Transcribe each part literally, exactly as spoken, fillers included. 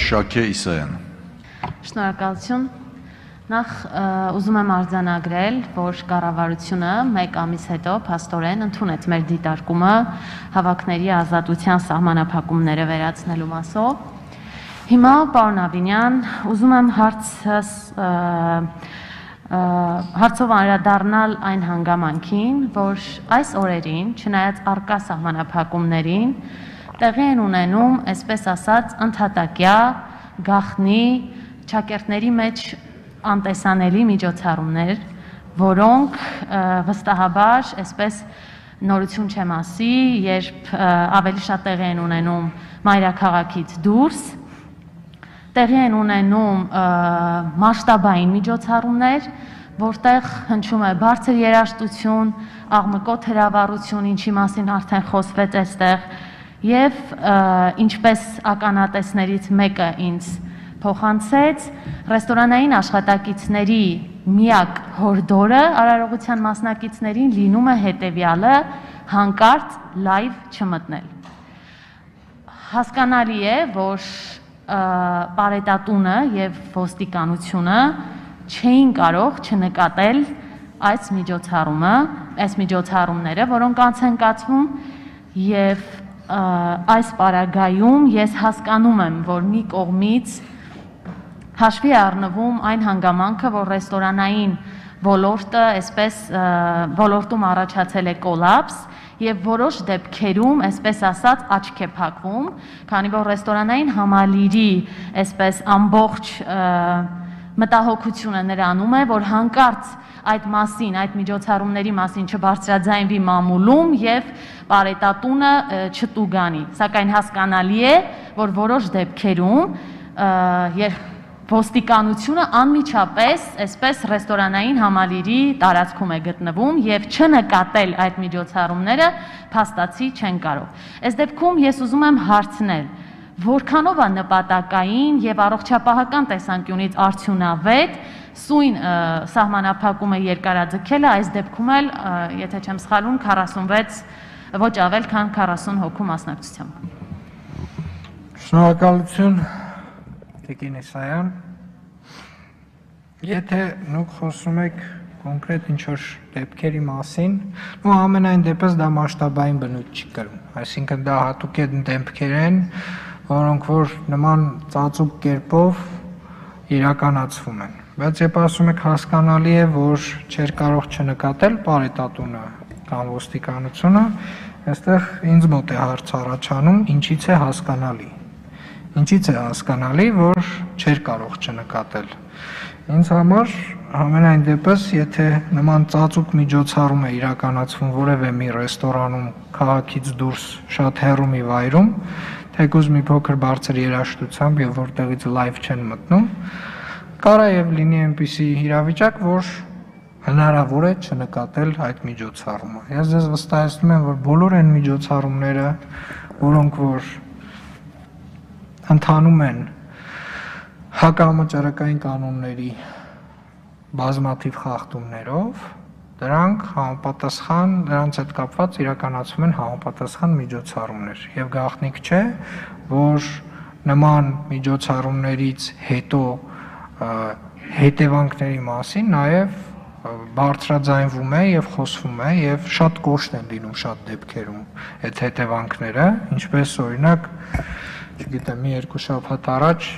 Շաքե Իսայան։ Շնորհակալություն։ Նախ ուզում եմ արձանագրել, որ կառավարությունը մեկ ամիս հետո փաստորեն ընդունեց մեր դիտարկումը հավաքների ազատության սահմանափակումները վերացնելու մասով։ Հիմա, պարոն Ավինյան, ուզում եմ հարցս հարցով անդրադառնալ այն հանգամանքին, որ այս օրերին, չնայած առկա սահմանափակումներին, տեղի են ունենում, այսպես ասած, ընդհատակյա գաղտնի ճակերտների մեջ անտեսանելի միջոցառումներ, որոնք վստահաբար, այսպես նորություն չեմ ասի, երբ ավելի շատ տեղի են ունենում մայրաքաղաքից դուրս, տեղի են ունենում մասշտաբային միջոցառումներ, որտեղ հնչում է բարձր երաժշտություն, աղմկոտ հրավառություն, ինչի մասին արդեն խոսվեց այստեղ, եւ ինչպես ականատեսներից մեկը ինձ փոխանցեց, ռեստորանային աշխատակիցների միակ հորդորը արարողության մասնակիցներին լինում է հետևյալը՝ հանկարծ լայվ չմտնել։ Հասկանալի է, որ պարետատունը եւ ոստիկանությունը չէին կարող չնկատել այս միջոցառումը, այս միջոցառումները, որոնք անց են կացվում, եւ այս պարագայում ես հասկանում եմ, որ մի կողմից հաշվի առնվում այն հանգամանքը, որ ռեստորանային ոլորտը, այսպես ոլորտում առաջացել է կոլապս եւ որոշ դեպքերում, այսպես ասած, աչք է փակվում, քանի որ ռեստորանային համալիրի, այսպես ամբողջ մտահոգությունը նրանում է, որ հանկարծ այդ մասին, այդ միջոցառումների մասին չբարձրաձայնվի մամուլում եւ պարետատունը չտուգանի, սակայն հասկանալի է, որ որոշ դեպքերում երբ ոստիկանությունը անմիջապես այսպես ռեստորանային համալիրի տարածքում է գտնվում եւ չնկատել այդ միջոցառումները փաստացի չեն կարող։ Այս դեպքում ես ուզում եմ հարցնել, որքանով է նպատակային եւ առողջապահական տեսանկյունից արդյունավետ սույն սահմանափակումը երկարաձգելը, այս դեպքում էլ, եթե չեմ սխալվում, քառասունվեց ոչ ավել, քան քառասուն հոգու մասնակցությամբ։ Շնորհակալություն, Տիկին Իսայան։ Եթե նուք խոսում եք կոնկրետ ինչ-որ դեպքերի մասին, ու ամենայն դեպս դա մասշտաբային բնույթ չի կրում, այսինքն դա հատուկ է դեպքեր են, որոնք որ նման ծածուկ կերպով իրականացվում են, բայց երբ ասում եք հասկանալի է, որ չէր կարող չնկատել պարետատունը կամ ոստիկանությունը, այստեղ ինձ մոտ է հարց առաջանում, ինչից է հասկանալի, ինչից է հասկանալի, որ չէր կարող չնկատել։ Ինձ համար ամենայն դեպս, եթե նման ծածուկ միջոցառում է իրականացվում որևէ մի ռեստորանում քաղաքից դուրս շատ հեռու մի վայրում, թեկուզ մի փոքր բարձր երաժշտությամբ եւ որտեղից լայվ չեն մտնում, կարա եւ լինի այնպիսի իրավիճակ, որ հնարավոր է չնկատել այդ միջոցառումը։ Ես ձեզ վստահեցնում եմ, որ բոլոր այն միջոցառումները, որոնք որ ընթանում են հակահամաճարակային կանոնների բազմաթիվ խախտումներով, դրանք համապատասխան, դրանց հետ կապված իրականացվում են համապատասխան միջոցառումներ եւ գաղտնիք չէ, որ նման միջոցառումներից հետո հետևանքների մասին նաեւ բարձրաձայնվում է եւ խոսվում է եւ շատ կոշտ են լինում շատ դեպքերում այդ հետևանքները, ինչպես օրինակ, չգիտեմ, մի երկու շաբաթ առաջ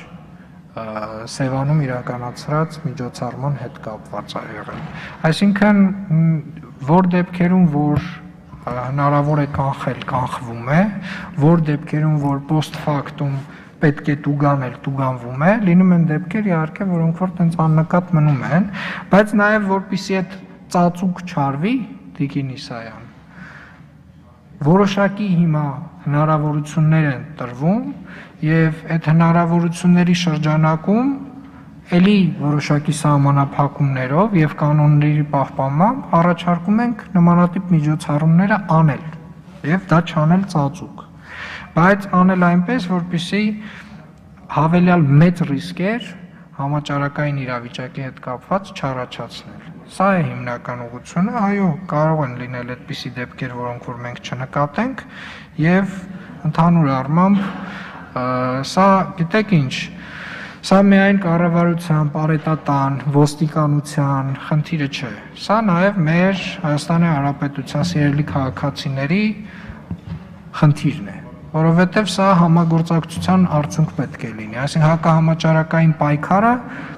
Սևանում իրականացրած միջոցառման հետ կապված է եղել։ Այսինքն, որ դեպքերում, որ հնարավոր է կանխել, կանխվում է, որ դեպքերում, որ post factum պետք է տուգանել, տուգանվում է, լինում են դեպքեր իհարկե, որոնք որ տենց աննկատ մնում են, բայց նաև որպեսզի այդ ծածուկ չարվի, Տիկին Իսայան, որոշակի հիմա հնարավորություններ են տրվում եւ այդ հնարավորությունների շրջանակում էլի որոշակի սահմանափակումներով եւ կանոնների պահպանմամբ առաջարկում ենք նմանատիպ միջոցառումները անել եւ դա չանել ծածուկ, բայց անել այնպես, որպեսզի հավելյալ մեծ ռիսկեր համաճարակային իրավիճակի հետ կապված չառաջացնել։ Սա է հիմնական ուղղությունը, այո, կարող են լինել այդպիսի դեպքեր, որոնք որ մենք չնկատենք եւ ընդհանուր առմամբ սա գիտեք ինչ, Սա միայն կառավարության, պարետատան, ոստիկանության խնդիրը չէ։ Սա նաև մեր Հայաստանի Հանրապետության սիրելի քաղաքացիների խնդիրն է, որովհետև սա համագործակցության արդյունք պետք է լինի, այսինքն հակահամաճարակային պայքարը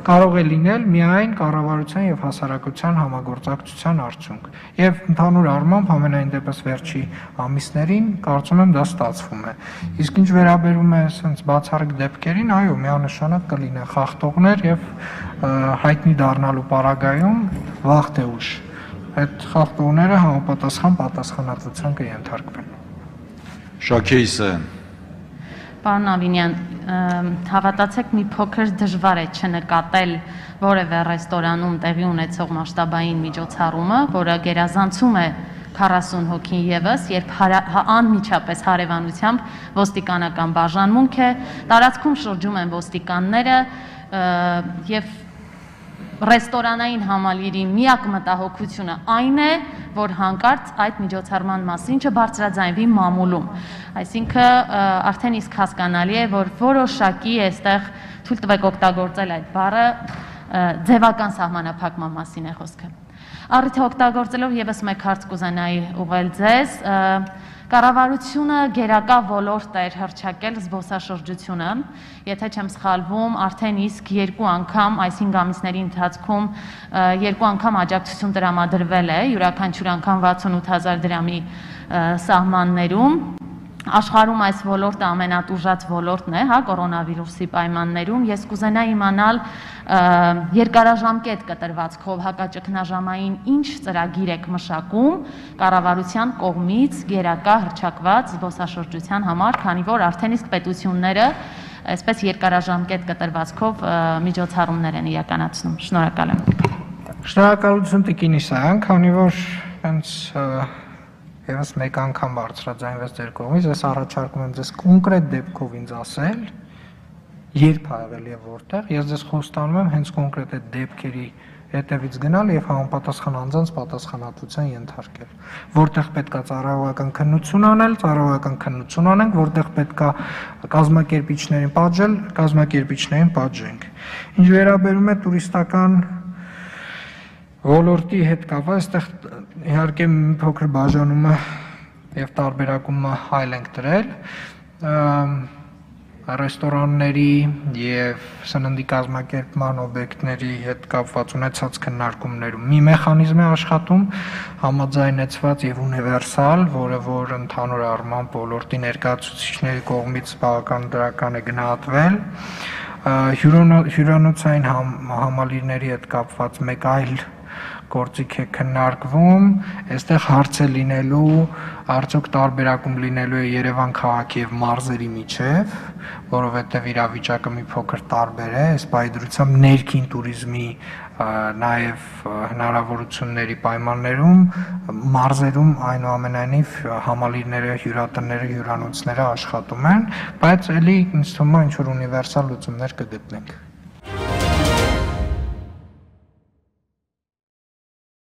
կարող է լինել միայն կառավարության եւ հասարակության համագործակցության արդյունք։ Եվ ընդհանուր առմամբ ամենայն դեպս վերջի ամիսներին կարծում եմ դա ստացվում է։ Իսկ ինչ վերաբերում է ասենց բացառիկ դեպքերին, այո, միանշանակ կլինեն խախտողներ եւ հայտնի դառնալու պարագայում վաղ թե ուշ այդ խախտողները համապատասխան պատասխանատվության կենթարկվեն։ Շաքե Իսայան։ Պարոն Ավինյան, հավատացեք մի փոքր դժվար է չնկատել որևէ ռեստորանում տեղի ունեցող մասշտաբային միջոցառումը, որը գերազանցում է քառասուն հոգին եւս, երբ անմիջապես հարևանությամբ ոստիկանական բաժանմունք է, տարածքում շրջում են ոստիկանները եւ ռեստորանային համալիրի միակ մտահոգությունը այն է, որ հանկարծ այդ միջոցառման մասին չբարձրաձայնվի մամուլում։ Այսինքն արդեն իսկ հասկանալի է, որ որոշակի այստեղ թույլ տվեք օգտագործել այդ բառը ձևական սահմանափակման մասին է խոսքը։ Առիթը օգտագործելով եւս մեկ հարց կուզենայի ուղղել ձեզ, կառավարությունը գերակա ոլորտ էր հռչակել զբոսաշրջությունը, եթե չեմ սխալվում, արդեն իսկ երկու անգամ այս հինգ ամիսների ընթացքում երկու անգամ աջակցություն տրամադրվել է, յուրաքանչյուր անգամ վաթսունութ հազար դրամի սահմաններում։ Աշխարհում այս ոլորտը ամենատուժած ոլորտն է, հա, կորոնավիրուսի պայմաններում։ Ես կուզենայի իմանալ երկարաժամկետ կտրվածքով հակաճգնաժամային ինչ ծրագիր եք մշակում կառավարության կողմից գերակա հռչակված զբոսաշրջության համար, քանի որ արդեն իսկ պետությունները այսպես երկարաժամկետ կտրվածքով միջոցառումներ են իրականացնում։ Շնորհակալ եմ։ Շնորհակալություն Տիկին Իսայան, քանի որ հենց Եվս մեկ անգամ բարձրաձայնվեց ձեր կողմից, ես առաջարկում եմ ձեզ կոնկրետ դեպքով ինձ ասել, երբ աղել եւ որտեղ, ես ձեզ խոստանում եմ հենց կոնկրետ այդ դեպքերի հետևից գնալ եւ համապատասխան անձանց պատասխանատվության ենթարկել։ Որտեղ պետքա ծառայողական քննություն անել, ծառայողական քննություն անենք, որտեղ պետքա կազմակերպիչներին պատժել, կազմակերպիչներին պատժենք։ Ինչ վերաբերում է տուրիստական ոլորտի հետ կապված, այստեղ իհարկե մի փոքր բաժանումը եւ տարբերակումը այլ ենք դրել ռեստորանների եւ սննդի կազմակերպման օբյեկտների հետ կապված ունեցած քննարկումներում մի մեխանիզմ է աշխատում համաձայնեցված եւ ունիվերսալ, որը որ ընդհանուր առմամբ ոլորտի ներկայացուցիչների կողմից բավական դրական է գնահատվել հյուրանոցային համալիրների հետ կապված մեկ այլ գործիք է քննարկվում, այստեղ հարց է լինելու, արդյոք տարբերակում լինելու է Երևան քաղաքի եւ մարզերի միջեւ, որովհետեւ իրավիճակը մի փոքր տարբեր է, այս պայդրությամբ ներքին туриզմի նաեւ հնարավորությունների պայմաններում մարզերում այնուամենայնիվ համալիրները, հյուրատները, հյուրանոցները աշխատում են, բայց ելի ինձ թվում է ինչ որ ունիվերսալ լուծումներ կգտնենք։